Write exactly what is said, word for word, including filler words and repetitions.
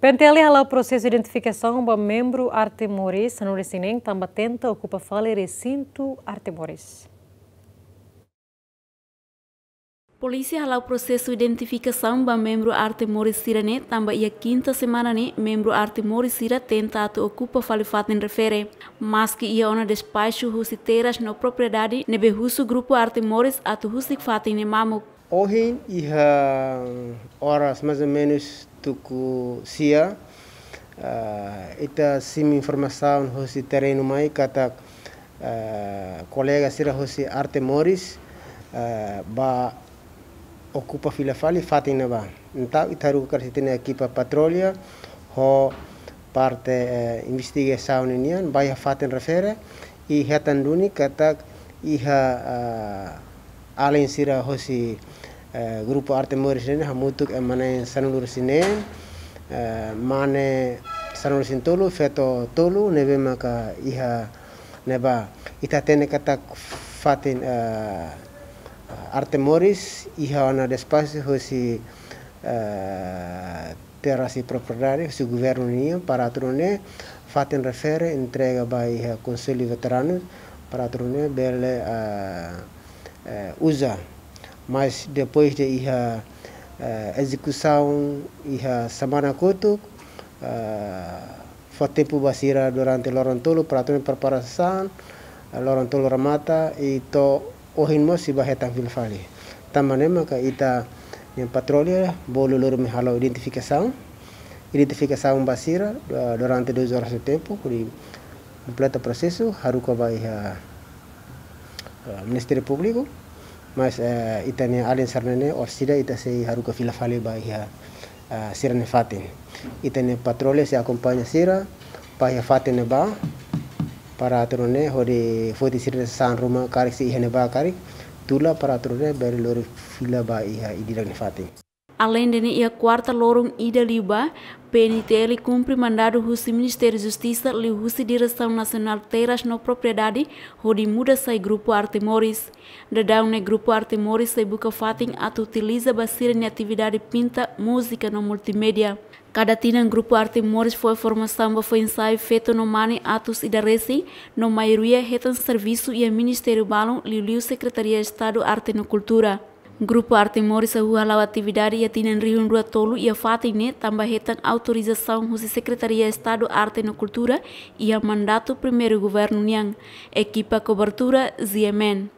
PNTL hala'o prosesu identifikasaun ba membru Arte Moris sanulu-resin-neen tanba tenta okupa fali resintu Arte Moris. Polísia hala'o prosesu identifikasaun ba membru Arte Moris sira-ne'e tanba iha kinta semana ne'e membru Arte Moris sira tenta atu okupa fali fatin refere. Maski iha ona despaxu husi terras no propriedade ne'ebé husu grupu Arte Moris atu husik fatin ne'e mamuk. Ohin iha oras mais ou menus tuku sia, ah, ita simu informasaun husi terrenu mai katak, ah, kolega sira husi Arte Moris, ah, ba okupa fila fali fatin ne'ebá. Entaun ita haruka karik ita-nia ekipa patrulla ho parte, eh, investigasaun ninian ba iha fatin refere i hetan duni katak iha, ah, alin sira husi, eh, grupu Arte Moris ne'e hamutuk ema na'in sanulu-resin-neen, eh, mane sanulu-resin-tolu, feto tolu, ne'ebé maka iha ne'ebá. Ita hatene katak fatin, eh, Arte Moris iha ona despaxu husi, eh, terras i propriedade husi governu nian para atu nune'e fatin refere entrega ba iha Konsellu Veteranu para atu nune'e bele, ah, eh, uza. Mas depois de iha, eh, ezekusaun iha semana kotuk, ah, fó tempu ba sira durante loron tolu para atu nune'e preparasaun, ah, loron tolu remata i to'o ohin mós sei ba hetan fila fali. Tanba ne'e maka ita-nia patrulla bolu loron mai halo identifikasaun. Identifikasaun ba sira, ah, durante duas horas de tempu, hodi kompleta prosesu, haruka ba iha, ah, Ministériu Públiku. Mas, eh, ita-nia alin sira-ne'e, orsida ita sei haruka fila fali ba iha, ah, sira-nia fatin. Ita-nia patrulla sei akompaña sira ba iha fatin ne'ebá, para atu nune'e hodi foti sira-nia sasán ruma karik se iha ne'ebá karik, tula para atu nune'e bele lori fila ba iha ida-idak nia fatin. Aleinde ne'e iha kuarta loron ida liubá, PNTL kumpre mandadu husi Ministériu Justisa liuhusi Diresaun Nasionál Terras no Propriedade hodi muda sai grupu Arte Moris. Daudaun ne'e grupu Arte Moris sei buka fatin atu utiliza ba sira-nia atividade pinta, múzika no multimédia. Kada tinan grupu Arte Moris fó informasaun ba foin-sa'e feto no mane atus ida resin, no maioria hetan servisu iha ministériu balun liuliu Sekretaria Estadu Arte no Kultura. Grupu Arte Moris hahú hala'o atividade iha tinan rihun rua tolu iha fatin ne'e tanba hetan autorizasaun husi Sekretaria Estadu Arte no Kultura iha mandatu primeiru governu nian. Ekipa kobertura, Z M N.